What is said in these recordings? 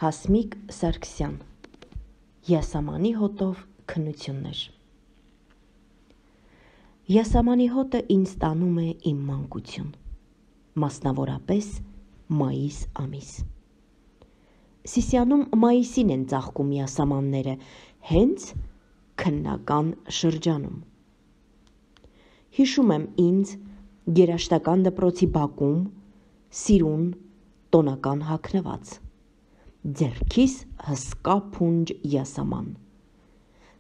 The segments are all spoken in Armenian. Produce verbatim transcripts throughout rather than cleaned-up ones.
Հասմիկ Սարգսյան Յասամանի հոտով քննություններ։ Յասամանի հոտը ինձ տանում է իմ մանկություն, մասնավորապես մայիս ամիս։ Սիսիանում մայիսին են ծաղկում յասամանները, հենց քննական շրջանում։ Հիշում եմ ինձ երաշտական դպրոցի բակում սիրուն տոնական հագնված, ձեռքիս հսկա փունջ յասաման,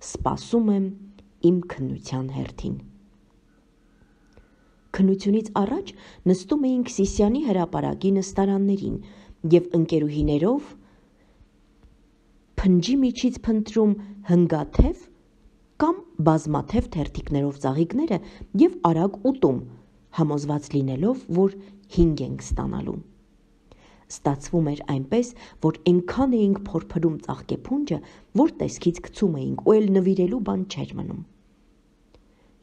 սպասում եմ իմ քննության հերթին։ Քննությունից առաջ նստում էինք Սիսիանի հրապարակի նստարաններին և ընկերուհիներով փնջի միջից փնտրում հնգաթև կամ բազմաթև թերթիկներով ծաղիկները և արագ ուտում, համոզված լինելով, որ հինգ ենք ստանալու։ Ստացվում էր այնպես, որ այնքան էինք փորփրում ծաղկեփունջը, որ տեսքից գցում էինք ու էլ նվիրելու բան չէր մնում։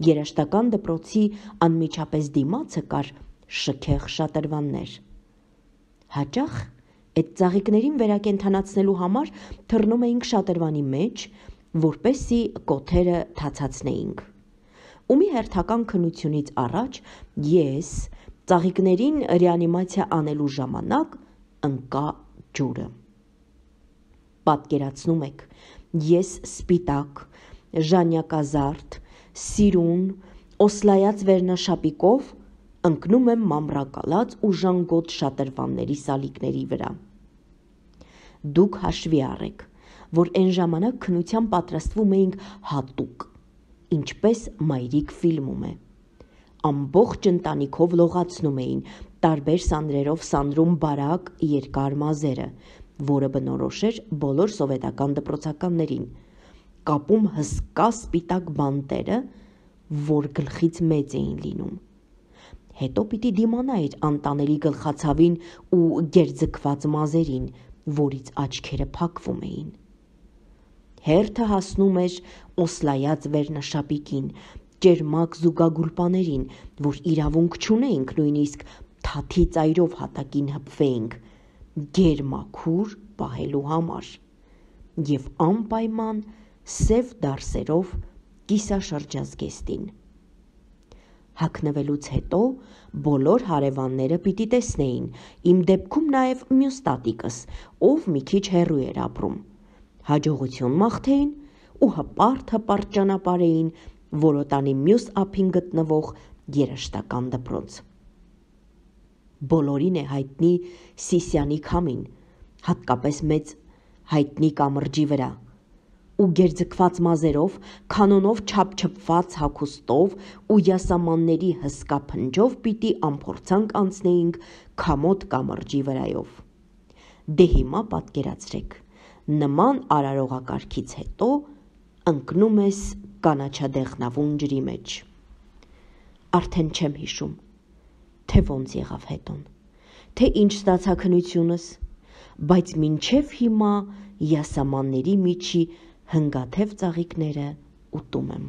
Երաշտական դպրոցի անմիջապես դիմացը կար շքեղ շատրվաններ։ Հաճախ այդ ծաղիկներին վերակենդանացնելու համար թռնում էինք շատրվանի մեջ, որպեսզի կոթերը թացացնեինք։ Ու մի հերթական քննությունից առաջ ես ծաղիկներին ռեանիմացիա անելու ժամանակ ընկա ջուրը։ Պատկերացնում եք, ես սպիտակ, ժանյակազարդ, սիրուն, օսլայած վերնաշապիկով ընկնում եմ մամռակալած ու ժանգոտ շատրվանների սալիկների վրա։ Դուք հաշվի առեք, որ այն ժամանակ քննության պատրաստվում էինք հատուկ, ինչպես մայրիկ ֆիլմում է։ Ամբողջ ընտանիքով լողացնում էին, տարբեր սանրերով սանրում բարակ երկար մազերը, որը բնորոշ էր բոլոր սովետական դպրոցականներին, կապում հսկա սպիտակ բանտերը, որ գլխից մեծ էին լինում։ Հետո պիտի դիմանայիր անտանելի գլխացավին ու գերձգված մազերին, որից աչքերը փակվում էին։ Հերթը հասնում էր օսլայած վերնաշապիկին, ճերմակ զուգագուլպաներին, որ իրավունք չունեինք նույնիսկ թաթի ծայրով հատակին հպվեինք, գեր-մաքուր պահելու համար, և անպայման սև դարսերով կիսաշրջազգեստին։ Հագնվելուց հետո բոլոր հարևանները պիտի տեսնեին, իմ դեպքում նաև մյուս տատիկս, ով մի քիչ հեռու էր ապրում, հաջողություն մաղթեին ու հպարտ-հպարտ ճանապարհեին Որոտանի մյուս ափին գտնվող երաշտական դպրոց։ Բոլորին է հայտնի Սիսիանի քամին, հատկապես մեծ հայտնի կամրջի վրա, ու գերձգված մազերով, քանոնով չափչփված հագուստով ու յասամանների հսկա փնջով պիտի անփորձանք անցնեինք քամոտ կամրջի վրայով։ Դե հիմա պատկերացրեք, նման արարողակարգից հետո ընկնում ես կանաչադեղնավուն ջրի մեջ։ Արդեն չեմ հիշում, թե ոնց եղավ հետոն, թե ինչ ստացա քննությունս, բայց մինչև հիմա յասամանների միջի հնգաթև ծաղիկները ուտում եմ։